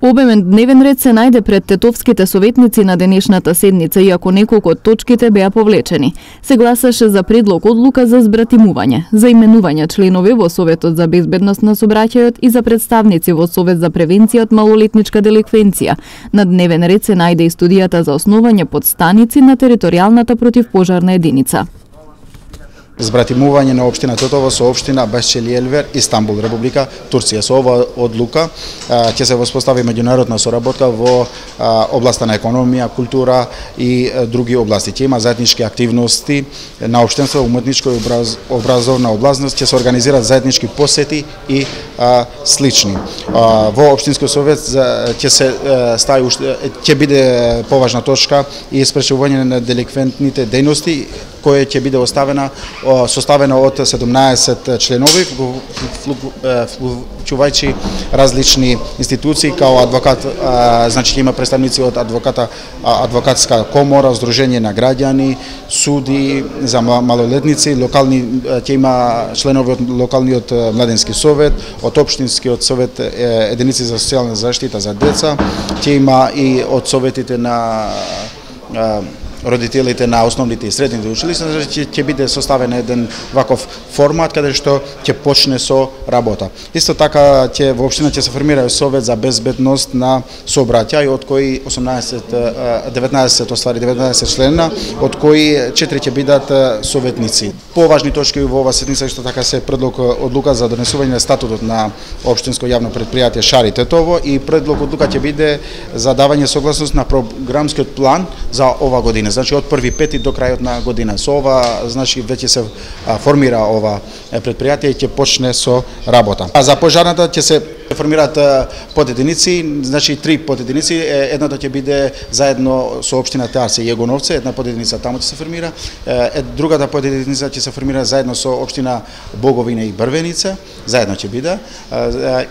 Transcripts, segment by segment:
Обемен дневен ред се најде пред тетовските советници на денешната седница, иако неколку од точките беа повлечени. Се гласаше за предлог одлука за збратимување, за именување членови во Советот за безбедност на сообраќајот и за представници во Совет за превенција од малолетничка деликвенција. На дневен ред се најде и студијата за основање подстаници на територијалната противпожарна единица. Збратимување на општина Тетово со општина Бешчелиелвер, Истанбул, Република Турција. Со ова одлука ќе се воспостави меѓународна соработка во областа на економија, култура и други области. Ќе има заеднички активности на општинство, уметничко и образовна област, ќе се организираат заеднички посети и слични. Во општинскиот совет ќе биде поважна точка и спречување на деликвентните дејности, која ќе биде составена од 17 членови, вклучувајќи различни институции, као адвокат, значи има представници од адвокатска комора, Сдружение на граѓани, суди за малолетници, локални, ќе има членови од локалниот младенски совет, од општинскиот совет единици за социјална заштита за деца, ќе има и од советите на родителите на основните и средните училишта, ќе биде составен еден ваков формат каде што ќе почне со работа. Исто така во општина ќе се формира Совет за безбедност на сообраќај, од кои 19 члена, од кои 4 ќе бидат советници. Поважни точки во ова седница исто така се предлог одлука за донесување на статутот на општинско јавно предпријатие Шари Тетово и предлог одлука ќе биде за давање согласност на програмскиот план за ова година. Значи од 1.5 до крајот на година. Со ова, значи веќе се формира ова предпријатие и ќе почне со работа. За пожарната ќе се формираат подединици, значи 3 подединици, едната ќе биде заедно со општина Тарсе и Јегоновце, една подединица таму ќе се формира, другата подединица ќе се формира заедно со општина Боговина и Брвеница, заедно ќе биде,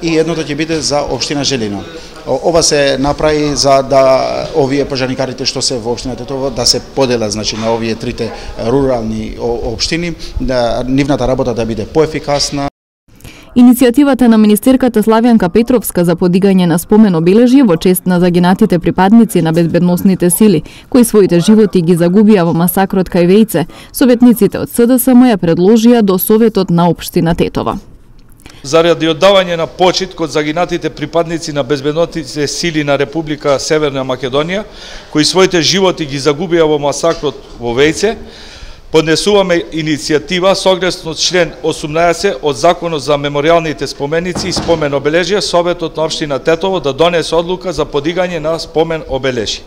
и едното ќе биде за општина Желино. Ова се направи за да овие пожарникарите што се во општина Тетово да се поделат, значи на овие трите рурални општини, да нивната работа да биде поефикасна. Иницијативата на министерката Славјанка Петровска за подигање на спомен обележје во чест на загинатите припадници на безбедносните сили, кои своите животи ги загубија во масакрот кај Вејце, советниците од СДСМ ја предложија до Советот на општина Тетова. Заради оддавање на почит код загинатите припадници на безбедносните сили на Република Северна Македонија, кои своите животи ги загубија во масакрот во Вејце, поднесуваме иницијатива согласно член 18 од Законот за меморијалните споменици и спомен обележја, Советот на општина Тетово да донесе одлука за подигање на спомен обележје.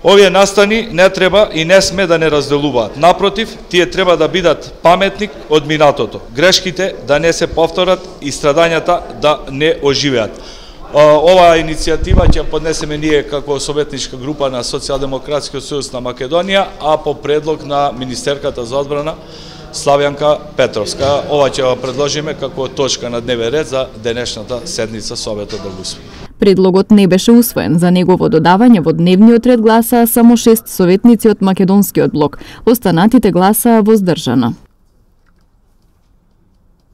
Овие настани не треба и не сме да не разделуваат. Напротив, тие треба да бидат паметник од минатото. Грешките да не се повторат и страдањата да не оживеат. Оваа иницијатива ќе поднесеме ние како советничка група на Социјалдемократскиот сојуз на Македонија, а по предлог на министерката за одбрана Славјанка Петровска. Ова ќе го предложиме како точка на дневен ред за денешната седница Советот да го усвои. Предлогот не беше усвоен. За негово додавање во дневниот ред гласаа само 6 советници од македонскиот блок. Останатите гласаа воздржано.